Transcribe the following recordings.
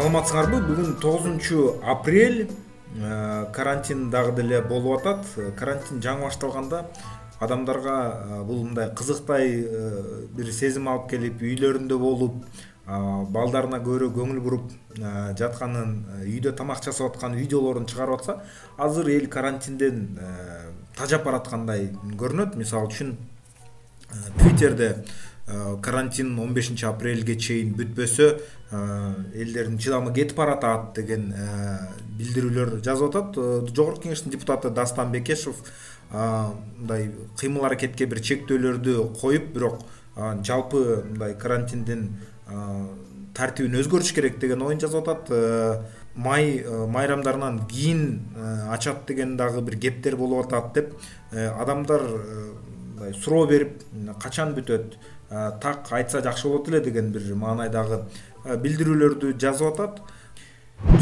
Саламатсыңарбы? Бүгүн 9-апрель. Карантин дагы деле болуп атат. Карантин жаңы башталганда адамдарга бул мындай кызыктай бир сезим алып келип, үйлөрүндө болуп, балдарына көбүрөөк көңүл буруп жатканын, үйдө тамак жасап аткан видеолорун чыгарып атса, азыр эл карантинден тажап бараткандай көрүнөт. Мисалы үчүн Twitterде карантин 15-апрелге чейин бүтпөсө, элдердин чыдамы кетип баратат деген билдирүүлөр жазып атат. Жогорку Кеңештин депутаты Дастан Бекешев мындай кыймыл аракетке бир чектөөлөрдү коюп, бирок жалпы мындай карантиндин тартибин өзгөртүш керек деген оюн жазып атат. Май майрамдарынан кийин ачат деген дагы бир кептер болуп атат деп адамдар суроо берип, качан бүтөт, так айтса жакшы болот эле деген бир маанайдагы билдирүүлөрдү жазып атат.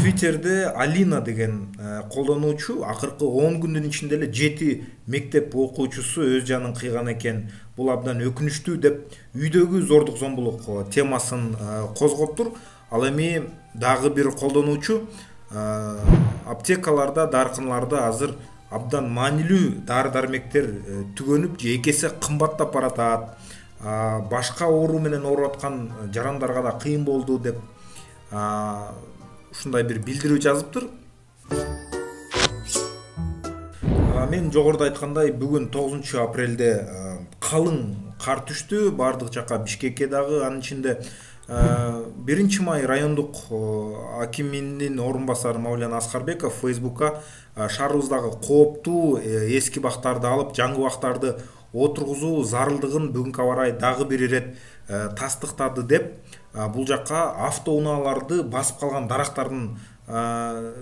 Twitterде Алина деген колдонуучу акыркы 10 күндүн ичинде эле 7 мектеп окуучусу өз жанын кыйган экен. Бул абдан өкүнүчтүү деп үйдөгү зордук зомбулук темасын козгоптур. Ал эми дагы бир колдонуучу аптекаларда, дарканларда азыр абдан маанилүү дары-дармектер түгөнүп же экесе кымбаттап баратат. Башка оору менен ооруп аткан жарандарга да кыйын болду деп ушундай бир билдирүү жазыптыр. Мен жогоруда айткандай, бүгүн 9-апрелде калың кар түштү бардык жака, Бишкекке дагы. Анын ичинде 1-май райондук акиминин орун басары Мавлян Аскарбеков Facebook'ка шаарыбыздагы кооптуу эски бактарды алып, жаңы бактарды отургузуу зарылдыгын бүгүнкү абарай дагы бир ирет тастыктады деп, бул жакка автоунааларды басып калган дарактардын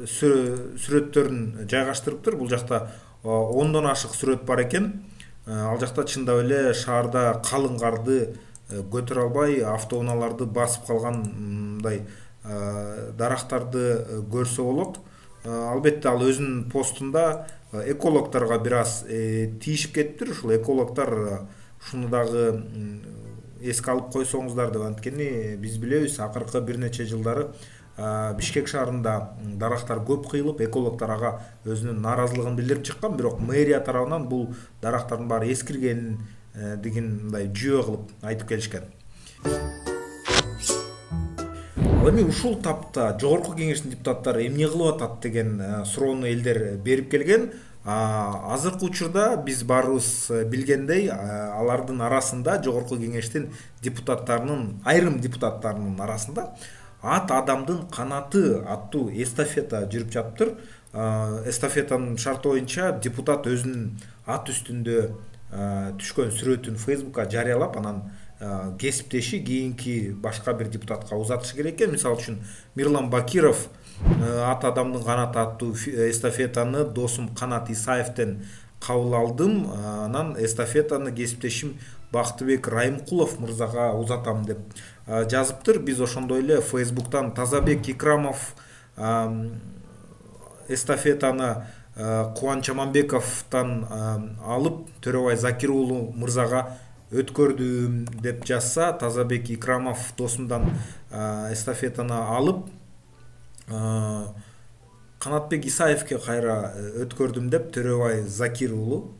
сүрөттөрүн жайгаштырыптыр. Бул жакта 10дон ашык сүрөт бар экен. Ал жакта чындап эле шаарда калың карды көтөрө албай автоунааларды басып калган мындай дарактарды көрсө болот. Албетте ал өзүнүн постунда экологторго бир аз тийишип кетиптир. Ушул экологтор ушуну дагы эске алып койсоңуздар деп, анткени биз билебиз, акыркы бир нече жылдары Бишкек шаарында дарактар көп кыйылып, экологтор ага өзүнүн нааразылыгын билдирип чыккан, бирок мэрия тарабынан бул дарактардын баары эскирген деген мындай жүйө кылып айтып келишкен. Ал эми ушул тапта Жогорку Кеңештин депутаттары эмне кылып атат деген суроону элдер берип келген. Азыркы учурда биз баарыбыз билгендей, алардын арасында, Жогорку Кеңештин депутаттарынын, айрым депутаттарынын арасында ат адамдын канаты аттуу эстафета жүрүп жатыптыр. Эстафетанын шарты боюнча депутат өзүнүн ат үстүндө түшкөн сүрөтүн Facebook'ка жарыялап, анан кесиптеши кийинки башка бир депутатка узатышы керек экен. Мисалы үчүн Мирлан Бакиров ат адамдын канаты аттуу эстафетаны досум Канат Исаевден кабыл алдым, анан эстафетаны кесиптешим Бактыбек Райымкулов мырзага узатам деп жазыптыр. Биз ошондой эле Facebook'тан Тазабек Икрамов эстафетаны Кубанч Аманбековдон алып Төрөбай Закир уулу мырзага өткөрдүм деп жазса, Тазабек Икрамов досумдан эстафетаны алып Канатбек Исаевке кайра өткөрдүм деп Төрөбай Закир уулу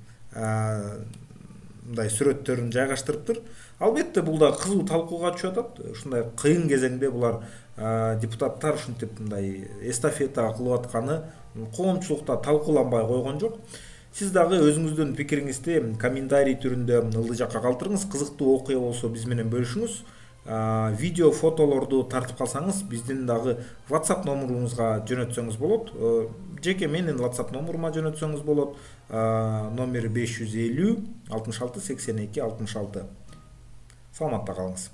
мындай сүрөттөрүн жайгаштырыптыр. Албетте бул да кызуу талкууга түшүп атат. Ушундай кыйын кезеңде булар депутаттар ушинтип мындай эстафета кылып атканы коомчулукта талкууланбай койгон жок. Сиз дагы өзүңүздүн пикириңизди комментарий түрүндө ылдый жакка калтырыңыз. Кызыктуу окуя болсо биз менен бөлүшүңүз. Видео, фотолорду тартып калсаңыз, биздин дагы WhatsApp номурубузга жөнөтсөңүз болот. Жеке менин WhatsApp номурума жөнөтсөңүз болот. Номери 550 66 82 66. Саламатта калыңыз.